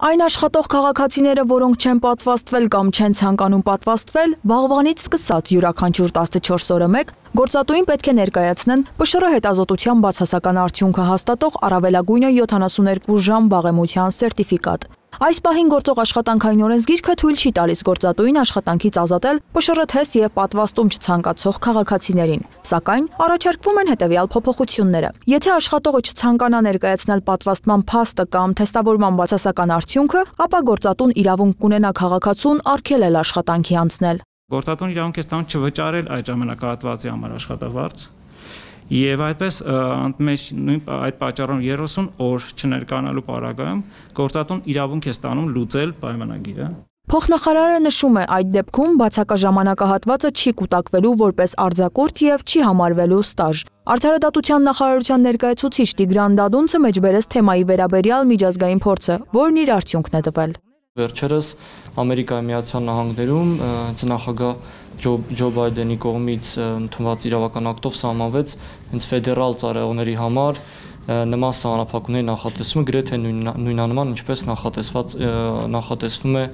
Այն աշխատող քաղաքացիները, որոնք չեն պատվաստվել կամ չեն ցանկանում պատվաստվել, վաղվանից սկսած յուրաքանչյուր 14 օրը մեկ գործատուին պետք է ներկայացնեն ՊՇՌ հետազոտության բացասական արդյունքը հաստատող առավելագույնը 72 ժամ վաղեմության սերտիֆիկատ։ Այս պահին գործող աշխատանքային օրենսգիրքը թույլ չի տալիս գործատուին աշխատանքից ազատել ՊՇՌ թեստ եւ պատվաստում չցանկացող քաղաքացիներին, սակայն առաջարկվում են հետեւյալ փոփոխությունները։ Եթե աշխատողը չցանկանա ներկայացնել պատվաստման փաստը կամ թեստավորման բացասական արդյունքը, ապա գործատուն իրավունք կունենա քաղաքացուն արգելել աշխատանքի անցնել։ Գործատուն իրավունք է ստանում չվճարել այդ ժամանակահատվածի համար աշխատավարձ եւ այդպես այդ պատճառով 30 օր չներկայանալու պարագայում գործատուն իրավունք է ստանում լուծել պայմանագիրը։ Փոխնախարարը նշում է, այդ դեպքում բացակա ժամանակահատվածը չի կուտակվելու որպես արձակուրդ եւ չի համարվելու ստաժ։ Արդարադատության նախարարության ներկայացուցիչ Տիգրան Դադունցը մեջբերեց թեմայի վերաբերյալ միջազգային փորձը, որն իր արդյունքն է տվել։ Վերջերս Ամերիկայի Միացյալ Նահանգներում նախագահ Ջո Բայդենի կողմից ընդունված իրավական ակտով սահմանվեց հենց ֆեդերալ ծառայողների համար նման սահմանափակումների նախատեսումը գրեթե նույնանման ինչպես նախատեսվում է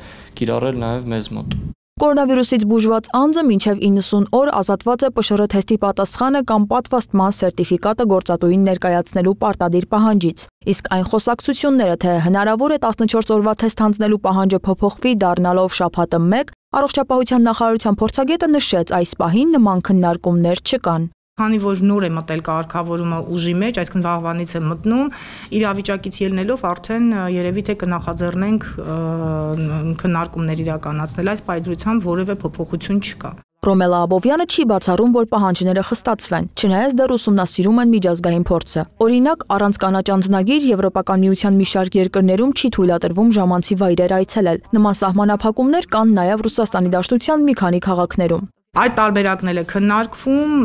կիրառել նաև մեզ մոտ։ Կորոնավիրուսից բուժված անձը մինչև 90 օր ազատված է ՊՇՌ թեստի պատասխանը կամ պատվաստման սերտիֆիկատը գործատուին ներկայացնելու պարտադիր պահանջից։ Իսկ այն խոսակցությունները, թե հնարավոր է 14 օրվա թեստ հանձնելու պահանջը փոփոխվի դառնալով շաբաթը 1, Առողջապահության նախարարության փորձագետը նշեց, այս պահին նման քննարկումներ չկան։ Քանի որ նոր է մտել կարգավորումը ուժի մեջ, այսինքն վաղվանից է մտնում, իրավիճակից ելնելով արդեն երևի թե կնախաձեռնենք քննարկումներ իրականացնել, այս պայծրությամբ որևէ փոփոխություն չկա։ Ռոմելա Աբովյանը չի բացառում, որ պահանջները խստացվեն, չնայած դեռ ուսումնասիրում են միջազգային փորձը։ Օրինակ, առանց կանաչ անձնագիր Եվրոպական միության մի շարք երկրներում չի թույլատրվում ժամանցի վայրեր այցելել։ Նման սահմանափակումներ կան նաև Ռուսաստանի Դաշնության մի քանի քաղաքներում։ Այդ տարբերակն էլ է քննարկվում,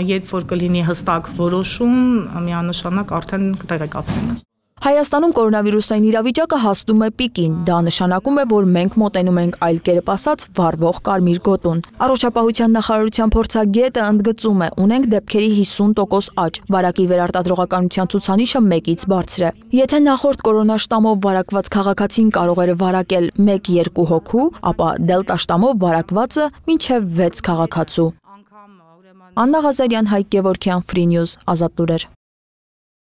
երբ որ կլինի հստակ որոշում, միանշանակ արդեն կտեղեկացնենք։ Հայաստանում կորոնավիրուսային իրավիճակը հասնում է պիկին, դա նշանակում է, որ մենք մոտենում ենք այլ կերպ ասած վառվող կարմիր գոտուն։ Առողջապահության նախարարության փորձագետը ընդգծում է, ունենք դեպքերի 50% աճ, վարակի վերարտադրողականության ցուցանիշը 1-ից բարձր է։ Եթե նախորդ կորոնաշտամով վարակված քաղաքացին կարող էր վարակել 1-2 հոգու, ապա դելտա շտամով վարակվածը մինչև 6 քաղաքացու։ Աննա Ղազարյան, Հայկ Գևորգյան, Free News, Ազատ լուրեր։